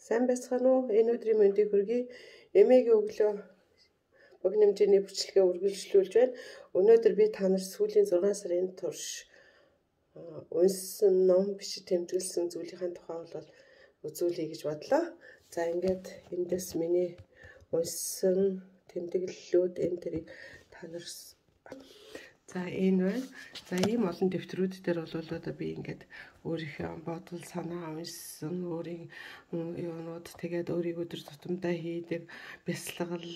Сайн байцгаана уу? Энэ өдрийн мэндийг хүргэе. Эмээгийн өглөө богино хэмжээний бүчлэгээ үргэлжлүүлж байна. Өнөөдөр би та нарт сүүлийн 6 сарын турш унсан ном бичиж тэмдэглэсэн зүйлийн тухай бол үзүүлэе гэж бодлоо. За ингээд эндээс миний унсан тэмдэглэлүүд энэ тэрийг та нар за энэ байна. За ийм олон дэвтрүүд дээр бол одоо би ингээд өөрийнхөө бодол санаа уншсан өөрийн юунууд тэгээд өөрийн өдөр тутамдаа хийдэг бясалгал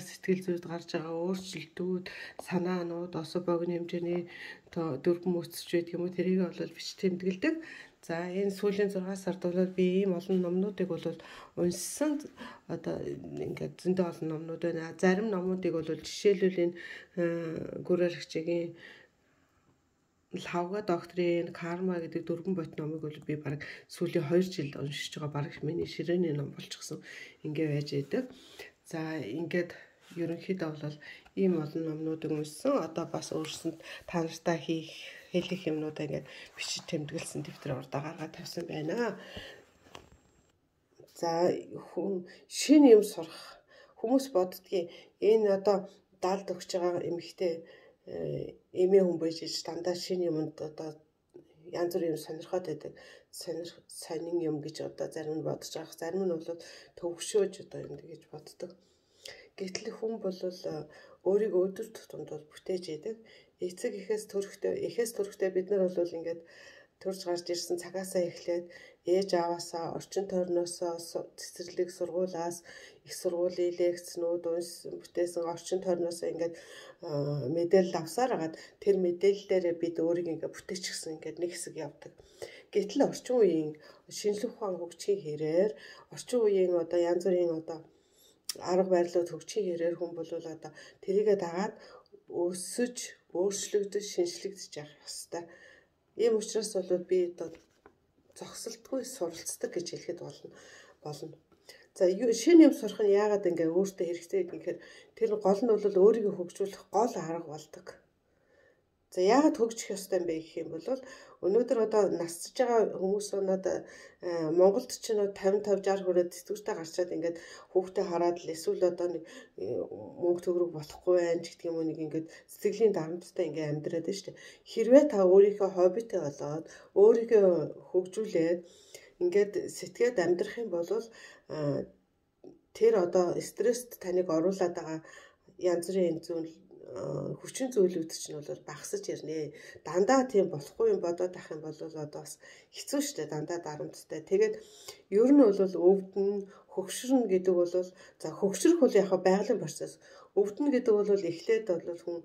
сэтгэл зүйд гарч байгаа өөрчлөлтүүд санаанууд осо богино хэмжээний дөрвөн мөцөж байдаг юм уу тэрийг бол бич тэмдэглэдэг. За энэ сүүлийн 6 сард бол би ийм олон номнуудыг бол уншсан. Одоо ингээд зөндөө олон номнууд байна. Зарим номуудыг бол жишээлбэл энэ гүрээр хичээгийн Лавга докторийн карма гэдэг дөрвөн бот номыг бол би баг сүүлийн 2 жил уншиж байгаа баг миний ширээний ном болчихсон ингээ байж байдаг. За ингээд ерөнхийдөө бол ийм олон номнуудыг уншсан. Одоо бас өөрсөнд та нартай хэлэх юмнуудаа ингээд бичиж тэмдэглэсэн дэвтэр урдаа гаргаад тавьсан байна. За шинэ юм сурах хүмүүс боддгийн энэ одоо даалд өгч байгаа эмэгтэй эмээ хүн байж дандаа шинэ юмд одоо янз бүрийн юм сонирхоод байдаг. Сонин юм гэж одоо зарим нь бодож байгаа. Зарим нь бол төвөгшөөж одоо юм гэж боддог. Гэтэл хүн бол өөрийгөө өдөр тутамд бол бүтээж яадаг. Эцэг эхээс төрөхтэй бид нар бол ингээд төрж гарч ирсэн цагаасаа эхлээд ээж аваасаа орчин тойрноосоо цэцэрлэг сургуулаас их сургуулийн лекцнүүд уншсан бүтээсэн орчин тойрноосоо ингээд мэдээлэл авсаар хагаад тэр мэдээллээрээ бид өөрийгөө ингээд бүтээчихсэн ингээд нэг хэсэг явдаг. Гэтэл орчин үеийн шинжлэх ухаан хөгжихийн хэрээр орчин үеийн одоо янз бүрийн одоо арга барилууд хөгжихийн хэрээр хүн бол одоо тэрийгэ дагаад өсөж өөрчлөгдөж шинжлэгдэж явах ёстой. Ийм учраас бол би одоо зогсолтгүй суралцдаг гэж хэлэхэд болно. За шинэ юм сурах нь яагаад ингээ өөртөө хэрэгтэй гэхээр тэр гол нь бол өөрийгөө хөгжүүлэх гол арга болдог. За яагаад хөгжих ёстой юм бэ гэх юм бол өнөөдөр одоо насцж байгаа хүмүүс одоо Монголд ч 55 60 хүрээд сэтгүүртэй гарчаад ингээд хүүхдээ хараад л эсвэл одоо нэг мөнгө төгрөг болохгүй байх гэх юм уу нэг ингээд сэтгэлийн дарамттай ингээд амьдраад байна шүү дээ. Хэрвээ та өөрийнхөө хоббитэй болоод өөрийгөө хөгжүүлээд ингээд сэтгээд амьдрах юм бол тэр одоо стресст таныг оруулаад байгаа янз бүрийн зүйл хүчин зүйлүүд чинь бол багасж ирнэ. Дандаа тийм болохгүй юм бодоод ах юм бол одоо бас хэцүү шттэ дандаа дарамттай. Тэгээд ер нь бол өвдөн хөгшрөн гэдэг бол за хөгшрөх бол яг байгалийн процесс. Өвдөн гэдэг бол эхлээд бол хүн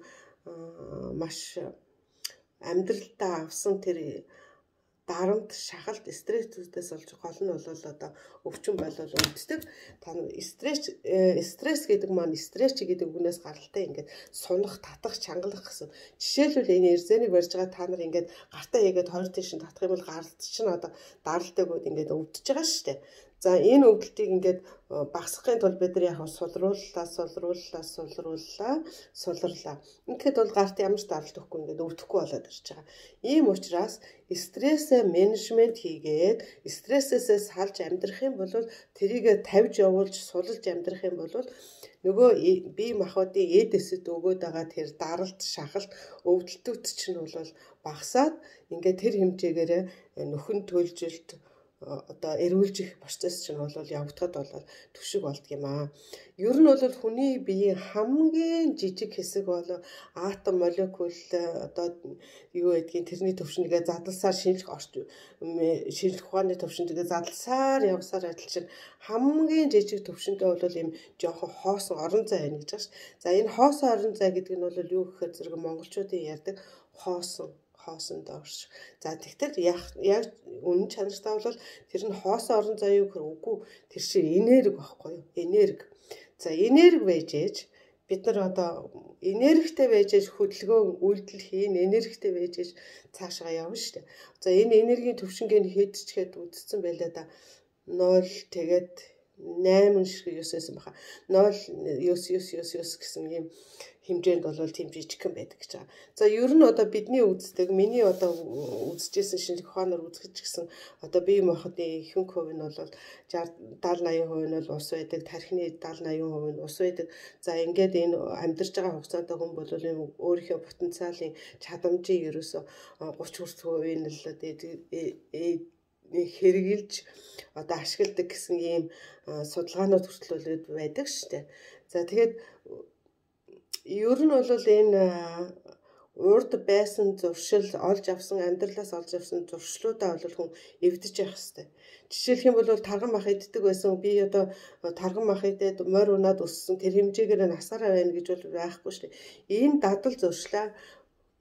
маш амьдралдаа авсан тэр дарамт, шахалт, стрессүүдээс болж гол нь бол одоо өвчин болол өвддөг. Та стресс гэдэг маань стресс гэдэг үгнээс гаралтай ингээд сунах, татах, чангалах гэсэн. Жишээлбэл энэ эрзэнийг барьж байгаа та нар ингээд гартаа хийгээд хоёр тийш нь татах юм бол гаралт чинь одоо даралтай гээд ингээд өвдөж байгаа шүү дээ. За энэ өвдөлтийг ингээд багасгахын тулд бид нар яг сулрууллаа. Ингээд бол гарт ямар ч даралт өгөхгүй ингээд өвдөхгүй болоод ирж байгаа. Ийм учраас стрессээ менежмент хийгээд стрессээсээ салж амьдрах юм бол тэрийгэ тавьж явуулж сулж амьдрах юм бол нөгөө бие махбодын эдэсэд өгөөд байгаа тэр даралт, шахалт, өвдөлтүүд чинь бол багасаад ингээд тэр хэмжээгээр нөхөн төлжилт одоо эрүүлж их процесс чинь бол явагдахад бол түвшиг болдг юм аа. Ер нь бол хүний биеийн хамгийн жижиг хэсэг бол атом молекул одоо юу гэдгийг тэрний төвшингээ задласаар шинжлэх ухааны төвшингээ задласаар явсаар адил чинь хамгийн жижиг төвшинтэй бол юм жоохон хоосон орон зай байна гэж байна шүү. За энэ хоосон орон зай гэдэг нь бол юу гэхээр зэрэг монголчуудын ярьдаг хоосон доорш. За тэгтэл яг үнэн чанартай бол тэр нь хоосон орон зай юу гэхээр үгүй тэр чинь энерги байхгүй юу? Энерги. За энерги байж ээж бид нар одоо энергитэй байж ээж хөдөлгөөн үйлдэл хийн, энергитэй байж ээж цаашаа явна шүү дээ. За энэ энергийн төвшингээ хэд ч хэд үдцсэн байлаа да 0 тэгээд 8 шиг 9 байсан баха. 0.9 гэсэн ийм хэмжээнд бол тийм жижигхэн байдаг гэж байгаа. За ер нь одоо бидний үздэг, миний одоо үзэжсэн шинжлэх ухаанаар үзэж гисэн одоо бие махбодын ихэнх хувь нь бол 60-70-80% нь бол ус байдаг, тархины 70-80% нь ус байдаг. За ингээд энэ амьдарч байгаа хугацаанд хүн бол өөрийнхөө потенциалын чадамжийг ерөөсө 30% нь л хэрэгжилж одоо ашигладаг гэсэн ийм судалгаанууд хүртэл байдаг шүү дээ. За тэгээд ер нь бол энэ урд байсан зуршил олж авсан амьдралаас олж авсан зуршлуудаа бол хүн эвдэж явах хэрэгтэй. Жишээлх юм бол тарган мах иддэг байсан би одоо тарган мах идээд морь унаад өссөн тэр хэмжээгээр насаараа байна гэж бол байхгүй шүү дээ. Энэ дадал зуршлаа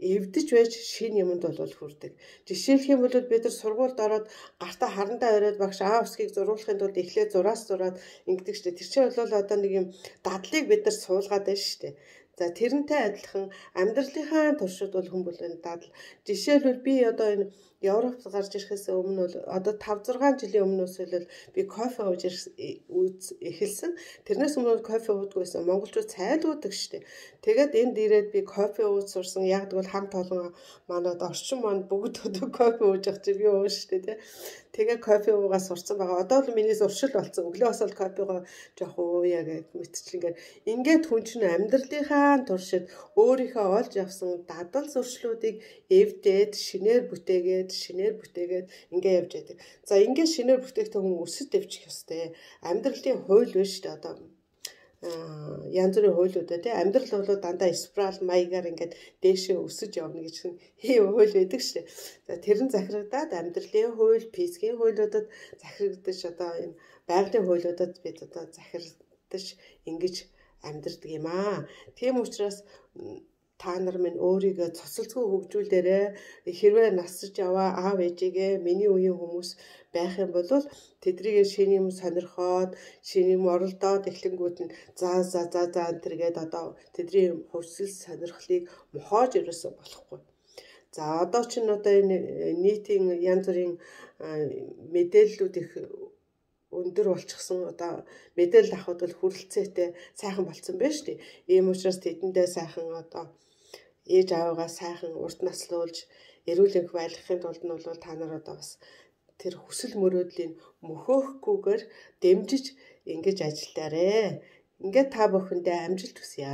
эвдэж байж шинэ юмд бол хүрдэг. Жишээлх юм бол бид нар сургуульд ороод гартаа харандаа ороод багш усгийг зурулахын тулд эхлээд зураас зураад ингэдэг штэ. Тэр чинь бол одоо нэг юм дадлыг бид нар суулгаад байна штэ. За тэрнтэй адилхан амьдралынхаа туршид бол хүн бол энэ дадал. Жишээлбэл би одоо энэ Европт гарч ирэхээс өмнө бол одоо 5-6 жилийн өмнөөс бол би кофе ууж эхэлсэн. Тэрнээс өмнө кофе уудаггүйсэн. Монголчууд цайлгуудаг штэ. Тэгээд энд ирээд би кофе ууж сурсан. Яг тэгвэл хамт олон манад орчин манд бүгд өдөр кофе ууж явах чи би ууж штэ тий. Тэгээ кофе уугаа сурцсан байгаа. Одоо л миний зуршил болсон. Өглөө бас л кофегоо жоох ууя гэж мэтчлэнгээр. Ингээд хүн чинь амьдралынхаа туршид өөрийнхөө олж авсан дадал зуршлуудыг эвдээд шинээр бүтээгээд ингээ явж байдаг. За ингээд шинээр бүтээхдээ хүн өсөж дэвчих ёстой. Амьдралын хууль биш шүү дээ одоо. Янз бүрийн хуулиудаа тий амьдрал бол дандаа спираль маягаар ингээд дээшээ өсөж явна гэж хууль байдаг шүү дээ. За тэр нь захирагдаад амьдралын хууль, физикийн хуулиудад захирагдаж одоо энэ байгалийн хуулиудад бид одоо захирагдаж ингэж амьдардаг юм аа. Тийм учраас та нар минь өөрийгөө цоцолцгүй хөгжүүлээрэ. Хэрвээ насж яваа аав ээжигээ миний үеийн хүмүүс байх юм бол тэдрийг шинэ юм сонирхоод шинэ юм оролдоод эхлэнгүүт нь за тэргээд одоо тэдний хувьсэл сонирхлыг мохоож ерөөсө болохгүй. За одоо ч одоо энэ нийтийн янз бүрийн мэдээллүүд их өндөр болчихсон одоо мэдээлэл авахд бол хүрэлцээтэй сайхан болцсон байна шүү дээ. Ийм учраас тэдэндээ сайхан одоо ээж аавгаа сайхан урт наслуулж эрүүл энх байлгахын тулд нь бол та нар одоо бас тэр хүсэл мөрөөдлийн мөхөөхгүйгээр дэмжиж ингэж ажиллаарэ. Ингээд та бүхэндээ амжилт хүсье.